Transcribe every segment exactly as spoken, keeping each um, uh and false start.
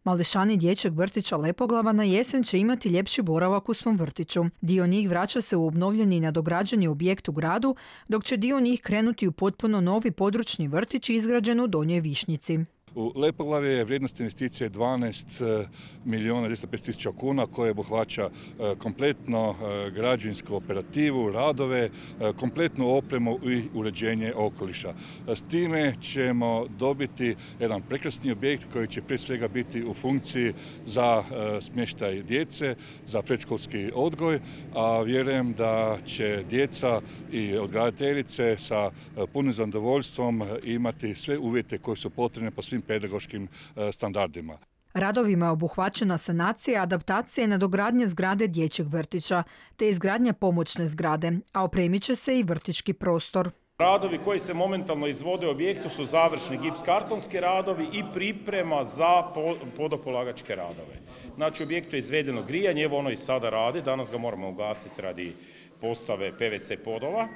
Mališani dječjeg vrtića Lepoglava na jesen će imati ljepši boravak u svom vrtiću. Dio njih vraća se u obnovljeni i nadograđeni objekt u gradu, dok će dio njih krenuti u potpuno novi područni vrtić izgrađen u Donjoj Višnjici. U Lepoglavi je vrijednost investicije dvanaest milijuna dvjesto pedeset tisuća kuna koje obuhvaća kompletno građevinsku operativu, radove, kompletnu opremu i uređenje okoliša. S time ćemo dobiti jedan prekrasni objekt koji će prije svega biti u funkciji za smještaj djece, za predškolski odgoj, a vjerujem da će djeca i odgajateljice sa punim zadovoljstvom imati sve uvjete koji su potrebne po svim pedagoškim standardima. Radovima je obuhvaćena sanacija, adaptacija i nadogradnja zgrade dječjeg vrtića, te izgradnja pomoćne zgrade, a opremit će se i vrtićki prostor. Radovi koji se momentalno izvode u objektu su završni gips-kartonski radovi i priprema za podopolagačke radove. Znači, u objektu je izvedeno grijanje, evo ono i sada radi, danas ga moramo ugasiti radi postave P V C podova.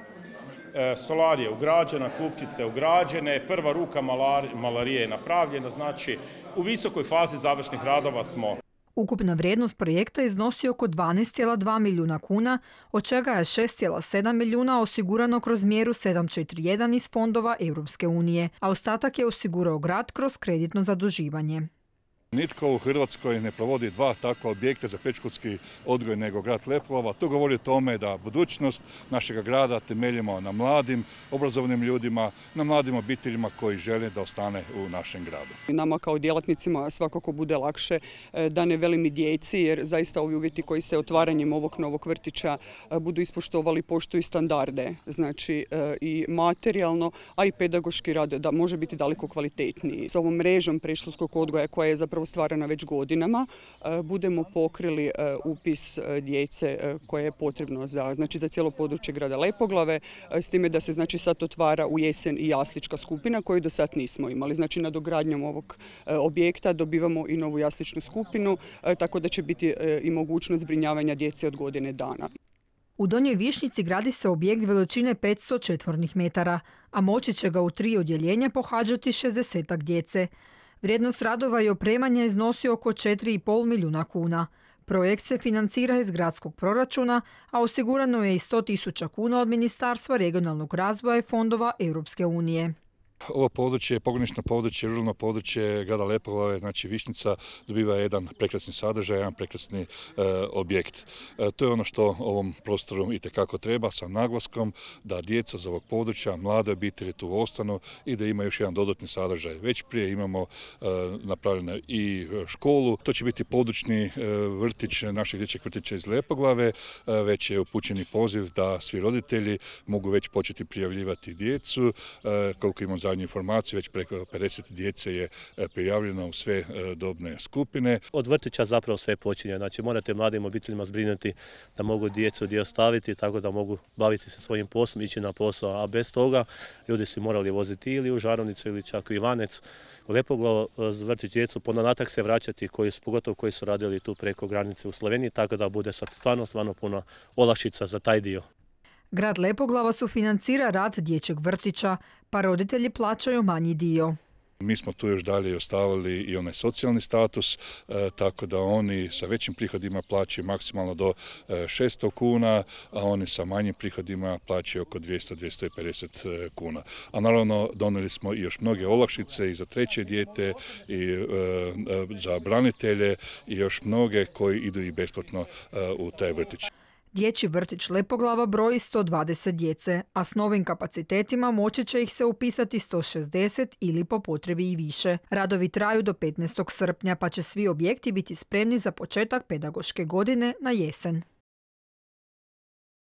Stolarija je ugrađena, kupčice ugrađene, prva ruka malarije je napravljena, znači u visokoj fazi završnih radova smo. Ukupna vrijednost projekta iznosi oko dvanaest zarez dva milijuna kuna, od čega je šest zarez sedam milijuna osigurano kroz mjeru sedam četiri jedan iz fondova Europske unije, a ostatak je osigurao grad kroz kreditno zaduživanje. Nitko u Hrvatskoj ne provodi dva takva objekta za predškolski odgoj nego grad Lepoglava. To govori o tome da budućnost našeg grada temeljimo na mladim, obrazovnim ljudima, na mladim obiteljima koji žele da ostane u našem gradu. Nama kao djelatnicima svakako bude lakše, da ne velim i djeci, jer zaista ovi uvjeti koji se otvaranjem ovog novog vrtića budu ispoštovali, poštuju standarde, znači i materijalno, a i pedagoški rad da može biti daleko kvalitetniji. S ovom mrežom predškolskog odgoja koja je zapravo stvarana već godinama, budemo pokrili upis djece koje je potrebno za, znači, za cijelo područje grada Lepoglave, s time da se, znači, sad otvara u jesen i jaslička skupina koju do sad nismo imali. Znači, nadogradnjom ovog objekta dobivamo i novu jasličnu skupinu, tako da će biti i mogućnost zbrinjavanja djece od godine dana. U Donjoj Višnjici gradi se objekt veličine petsto četvornih metara, a moći će ga u tri odjeljenja pohađati šezdesetak djece. Vrijednost radova i opremanja iznosi oko četiri zarez pet milijuna kuna. Projekt se financira iz gradskog proračuna, a osigurano je i sto tisuća kuna od Ministarstva regionalnog razvoja i fondova Europske unije. Ovo područje, pogranično područje, ruralno područje grada Lepoglave, znači Višnjica, dobiva jedan prekrasni sadržaj, jedan prekrasni e, objekt. E, to je ono što ovom prostoru itekako treba, sa naglaskom da djeca za ovog područja, mlade obitelji tu ostanu i da ima još jedan dodatni sadržaj. Već prije imamo e, napravljenu i školu, to će biti područni e, vrtić našeg dječjeg vrtića iz Lepoglave, e, već je upućeni poziv da svi roditelji mogu već početi prijavljivati djecu, e, koliko imamo zadnju informaciju, već preko pedeset djece je prijavljeno u sve dobne skupine. Od vrtića zapravo sve počinje, znači morate mladim obiteljima zbrinuti da mogu djecu gdje ostaviti, tako da mogu baviti se svojim poslom, ići na posao, a bez toga ljudi su morali voziti ili u Žarovnicu ili čak u Ivanec, u Lepoglavu, vrtić djecu, ponatak se vraćati, koji, pogotovo koji su radili tu preko granice u Sloveniji, tako da bude sad stvarno, stvarno puno olakšica za taj dio. Grad Lepoglava sufinancira rad dječjeg vrtića, pa roditelji plaćaju manji dio. Mi smo tu još dalje ostavili i onaj socijalni status, e, tako da oni sa većim prihodima plaćaju maksimalno do e, šesto kuna, a oni sa manjim prihodima plaćaju oko dvjesto do dvjesto pedeset kuna. A naravno donijeli smo i još mnoge olakšice i za treće dijete i e, za branitelje i još mnoge koji idu i besplatno e, u taj vrtić. Dječji vrtić Lepoglava broji sto dvadeset djece, a s novim kapacitetima moći će ih se upisati sto šezdeset ili po potrebi i više. Radovi traju do petnaestog srpnja, pa će svi objekti biti spremni za početak pedagoške godine na jesen.